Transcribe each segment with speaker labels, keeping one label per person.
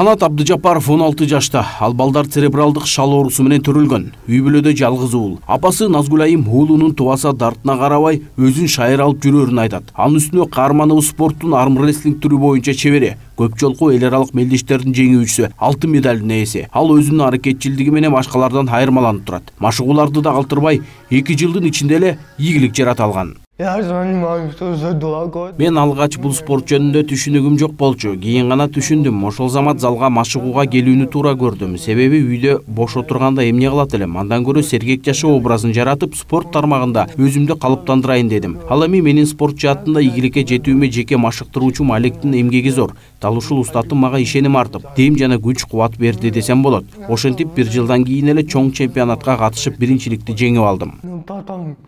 Speaker 1: Канат Абдыжапаров 16 жашта. Ал балдар церебралдык шал оорусу менен төрөлгөн. Үй бүлөдө жалгыз уул. Апасы Назгулайым уулунун тубаса дартына карабай өзүн шайыр алып жүрөрүн айтат. Анын үстүнө каарманыбыз спорттун армрестлинг түрү боюнча чебери. Көп жолку эл аралык мелдештердин жеңүүчүсү, алтын медалдын ээси. Ал өзүнүн аракетчилдиги менен башкалардан айырмаланып турат. Машыгууларды да калтырбай 2 жылдын ичинде эле ийгилик жарата алган. Мен алгач бул спорт жөнүндө түшүнүгүм жок болчу. Кийин гана түшүндүм. Ошол замат залга машыгууга келүүнү туура көрдүм. Себеби үйдө бош отурганда эмне кылат элем? Андан көрө сергек жашоо образын жаратып, спорт тармагында өзүмдү калыптандырайын дедим. Ал эми менин спорт жаатында ийгиликке жетүүмө жеке машыктыруучум Алектин эмгеги зор. Дал ушул устатым мага ишеним артып, дем жана күч кубат берди десем болот. Ошентип 1 жылдан кийин эле чоң чемпионатка катышып биринчиликти жеңип алдым.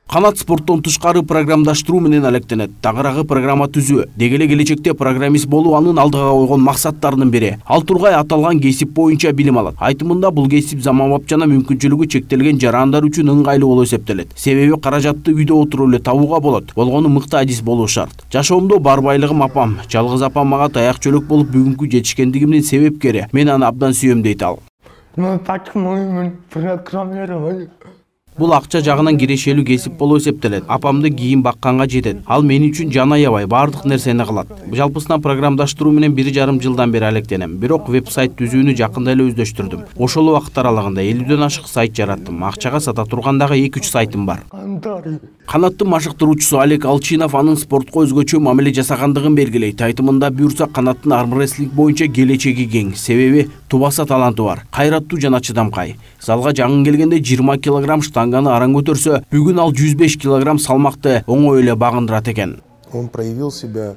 Speaker 1: Канат спорттон тышкары программдаштыруу менен алектенет. Тагыраагы программа түзүү, деги эле келечекте программист болуу анын алдыга койгон максаттарынын бири. Ал тургай аталган кесип боюнча билим алат. Айтымында бул кесип заманбап жана мүмкүнчүлүгү чектелген жарандар үчүн ыңгайлуу болуп эсептелет. Себеби каражатты үйдө отуруп эле табууга болот. Болгону мыкты адис болуу шарт. Жашоомдо бар байлыгым апам. Жалгыз апам мага таяк чөлөк болуп бүгүнкү жетишкендигимдин себепкери. Мен аны абдан сүйөм дейт ал. Бул акча жагынан кирешелүү кесип болуп эсептелет. Апамды кийин бакканга жетет. Ал мен үчүн жан аябай бардык нерсени кылат. Жалпысынан программдаштыруу менен 1,5 жылдан бери алектенем. Бирок веб-сайт түзүүнү жакында эле өздөштүрдүм. Ошол убакыт аралыгында 50дөн ашык сайт жараттым. Акчага сата тургандагы 2-3 сайтым бар. Канаттын машыктыруучусу Олег Алчинов анын спортко өзгөчө мамиле жасагандыгын белгилейт. Айтымында буюрса канаттын армрестлинг боюнча келечеги кең. Себеби тубаса таланты бар, кайраттуу жана чыдамкай. Залга жаңы келгенде 20 килограмм штанганы араң көтөрсө, бүгүн ал 105 килограмм салмакты оңой эле багындырат экен.
Speaker 2: Он проявил себя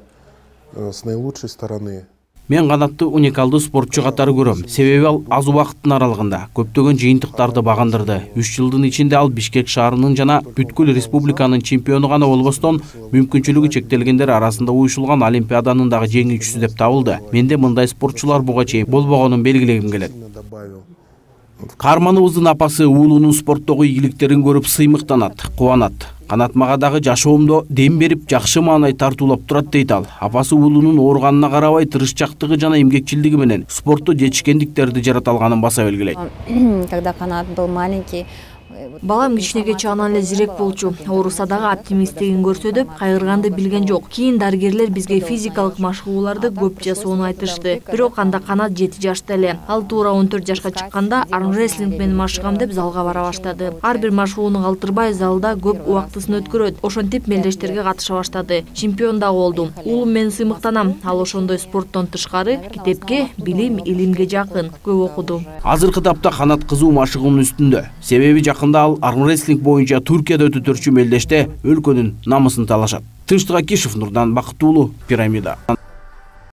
Speaker 2: с наилучшей стороны.
Speaker 1: Мен канатты уникалдуу спортчу катары көрөм. Себеби ал аз убакыттын аралыгында көптөгөн жыйынтыктарды багындырды. 3 жылдын ичинде ал Бишкек шаарынын жана бүткүл республиканын чемпиону гана болбостон, мүмкүнчүлүгү чектелгендер арасында уюшулган олимпиаданын дагы жеңүүчүсү деп табылды. Менде мындай спортчулар буга чейин болбогонун белгилегим келет. Каарманыбыздын апасы уулунун спорттогу ийгиликтерин көрүп сыймыктанат, кубанат. Канат мага дагы жашоомдо дем берип, жакшы маанай тартуулап турат дейт ал. Апасы уулунун ооруганына карабай тырышчактыгы жана эмгекчилдиги менен спортто жетишкендиктерди жарата алганын баса белгилейт.
Speaker 3: Когда Канат был маленький,
Speaker 4: балам кичинеге чагынан эле зирек болчу. Ооруса дагы оптимисттигин көрсөтүп, кайгырганды билген жок. Кийин дарыгерлер бизге физикалык машыгууларды көп жасоону айтышты. Бирок анда Канат 7 жашта эле. Ал туура 14 жашка чыкканда армрестлинг менен машыгам деп залга бара баштады. Ар бир машыгууну калтырбай залда көп убактысын өткөрөт. Ошентип мелдештерге катыша баштады. Чемпион дагы болдум. Уулум менен сыймыктанам. Ал ошондой спорттон тышкары китепке, билим, илимге жакын, көп окуду.
Speaker 1: Азыркы тапта Канат кызуу машыгуунун үстүндө. Себеби жакында ал армрестлинг боюнча Туркияда өтө-төрчү мелдеште өлкөнүн намысын талашат. Тынчтык Акишев, Нурдан Бакыт уулу, Пирамида.